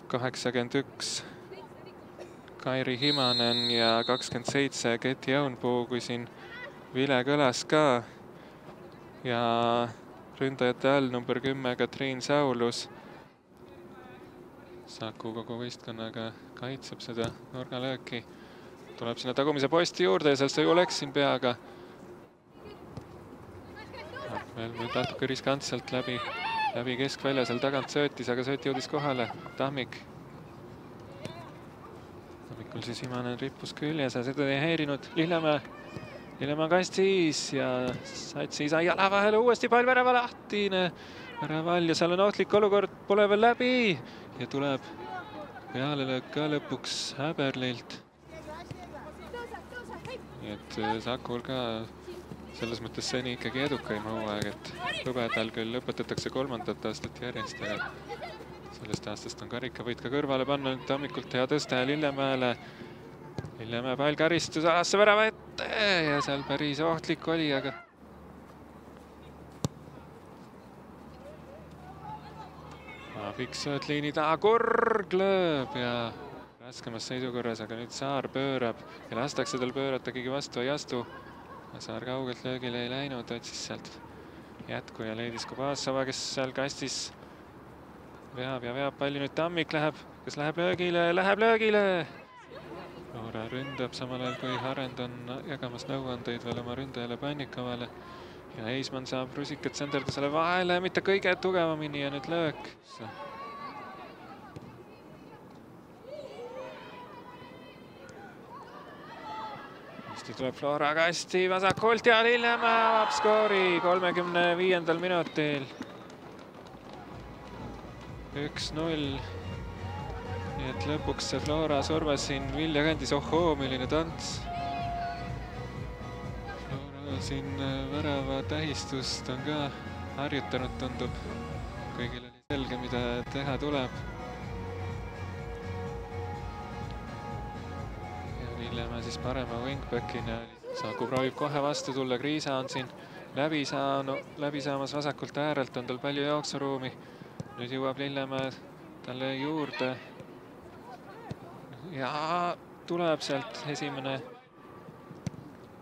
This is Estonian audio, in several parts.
81 Kairi Himanen ja 27 Keti Jaunpuu, kui siin vile kõlas ka. Ja ründajate all number 10 Katriin Saulus. Saku kogu võistkonnaga kaitseb seda nurgalööki. Tuleb sinna tagumise posti juurde ja seal sai Oleksin peaga. Veel natuke riskantselt läbi keskvälja, seal tagant söötis, aga sööt jõudis kohale. Tammik. Tammikul siis Himanen rippus küljes ja seda ei häirinud Lillemäe. Lillemäe kastis ja Satsi sai jala vahele, uuesti pall värava lahtine. Väraval ja seal on ohtlik olukord, pole veel läbi. Ja tuleb pealelöök ka lõpuks Häberlilt. Nii et Sakul ka selles mõttes seni ikkagi edukaim hooaeg, et hõbedal küll lõpetatakse 3. aastat järjest, aga sellest aastast on karikavõit ka kõrvale panna. Tammikult hea tõste Lillemäele. Lillemäe pall karistus alasse värava ette ja seal päris ohtlik oli, aga Fiksööt liini taha, Kurg lööb ja raskemas seisukorras, aga nüüd Saar pöörab ja lastakse tal pöörata, keegi vastu ei astu. Saar kaugelt löögile ei läinud, otsis sealt jätku ja leidis Kubasova, kes seal kastis veab ja veab palli. Nüüd Tammik läheb, kes läheb löögile, Loora ründab samal ajal, kui Harend on jagamas nõuandeid veel oma ründajale Pannikovale. Ja Eismann saab rusikat senderdusele vahele, mitte kõige tugevamini ja nüüd löök. Hästi tuleb Flora kasti vasakult ja Lillemäe avab skoori 35. minutil. 1-0. Nii et lõpuks see Flora surves siin Vilja kandis. Ohoo, milline tants. Flora siin värava tähistust on ka harjutanud, tundub. Kõigil oli selge, mida teha tuleb. Lillemäe siis parema wingbackina. Saku proovib kohe vastu tulla, Kriisa on siin läbi saamas vasakult äärelt, on tal palju jooksuruumi. Nüüd jõuab Lillemäe talle juurde. Ja tuleb sealt esimene.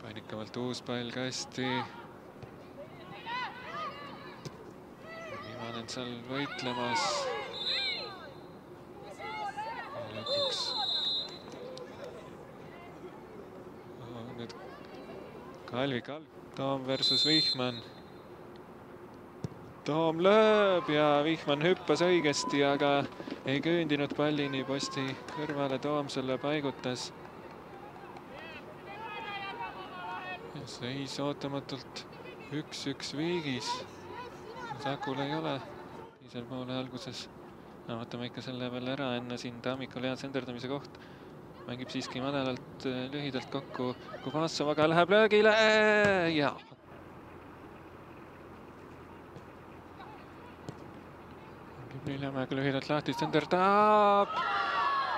Pannikavalt uus pall kasti. Himanen seal võitlemas. Lõpuks Kalvi Toom versus Vihman. Toom lööb ja Vihman hüppas õigesti, aga ei kööndinud pallini posti kõrvale. Toom selle paigutas. Ja seis ootamatult 1-1 viigis. Sakul ei ole teisel poole alguses. Vaatame ikka selle veel ära enne siin Tammikul hea senderdamise koht. Mängib siiski madalalt lühidalt kokku. Kubasovaga läheb löögile ja Lillemäega lühidalt lahti, senderdab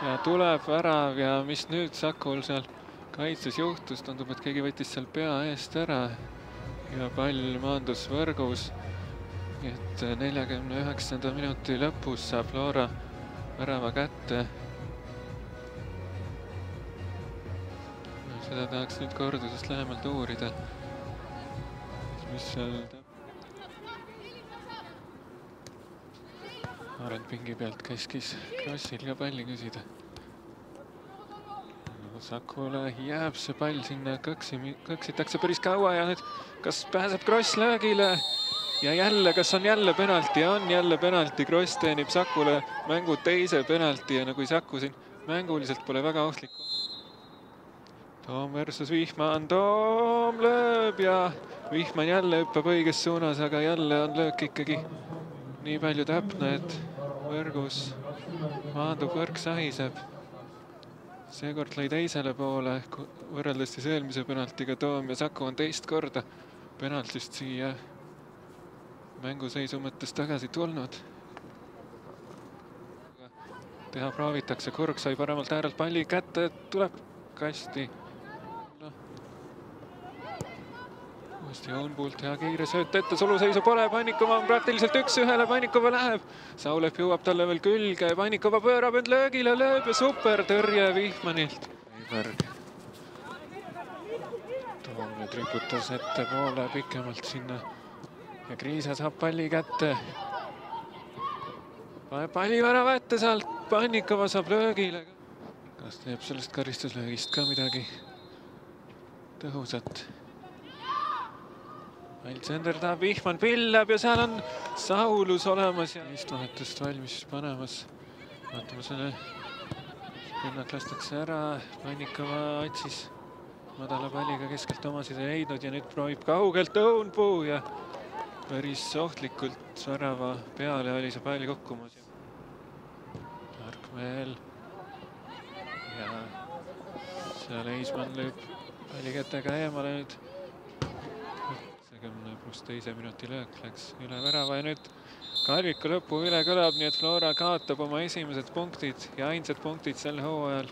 ja tuleb värav ja mis nüüd Sakul seal kaitses juhtus, tundub, et keegi võttis seal pea eest ära ja pall maandus võrgus. Et 49. minuti lõpus saab Flora värava kätte. Seda tahaks nüüd kordusest lähemalt uurida. Mis seal Arend pingi pealt käskis Krossil ka palli küsida. Sakule jääb see pall sinna, kõksitakse päris kaua ja nüüd kas pääseb Kross löögile ja jälle, kas on jälle penalti ja on jälle penalti. Kross teenib Sakule mängu teise penalti ja nagu Saku siin mänguliselt pole väga ohtlik. Toom versus Vihman, Toom lööb ja Vihman jälle hüppab õiges suunas, aga jälle on löök ikkagi nii palju täpne, et võrgus maandub, võrk sahiseb. Seekord lõi teisele poole, võrreldes siis eelmise penaltiga Toom ja Saku on teist korda penaltist siia mänguseisu mõttes tagasi tulnud. Teha proovitakse, Kurg sai paremalt äärelt palli kätte, tuleb kasti. uuesti Joonpult hea kiire sööt ette, suluseisu pole, Pannikova on praktiliselt 1-1, Pannikova läheb. Saulev jõuab talle veel külge, Pannikova pöörab end löögile, lööb ja super tõrje Vihmanilt. Veiberg. Toom nüüd riputas ettepoole pikemalt sinna ja Kriisa saab palli kätte. Paneb palli värava ette sealt, Pannikova saab löögile. Kas teeb sellest karistuslöögist ka midagi tõhusat? Alexander tahab, Vihman pillab ja seal on Saulus olemas ja istvahetust valmis panemas. Vaatame selle, pinnak lastakse ära, Pannikova otsis madala palliga keskelt omasid ei leidnud ja nüüd proovib kaugelt Õunpuu ja päris ohtlikult värava peale oli see pall kukkumas. Argmeel ja seal Eismann lööb palli kätega eemale nüüd. 10+2 minuti löök läks üle värava ja nüüd Kalviku lõpu üle kõlab, nii et Flora kaotab oma esimesed punktid ja ainsad punktid sel hooajal.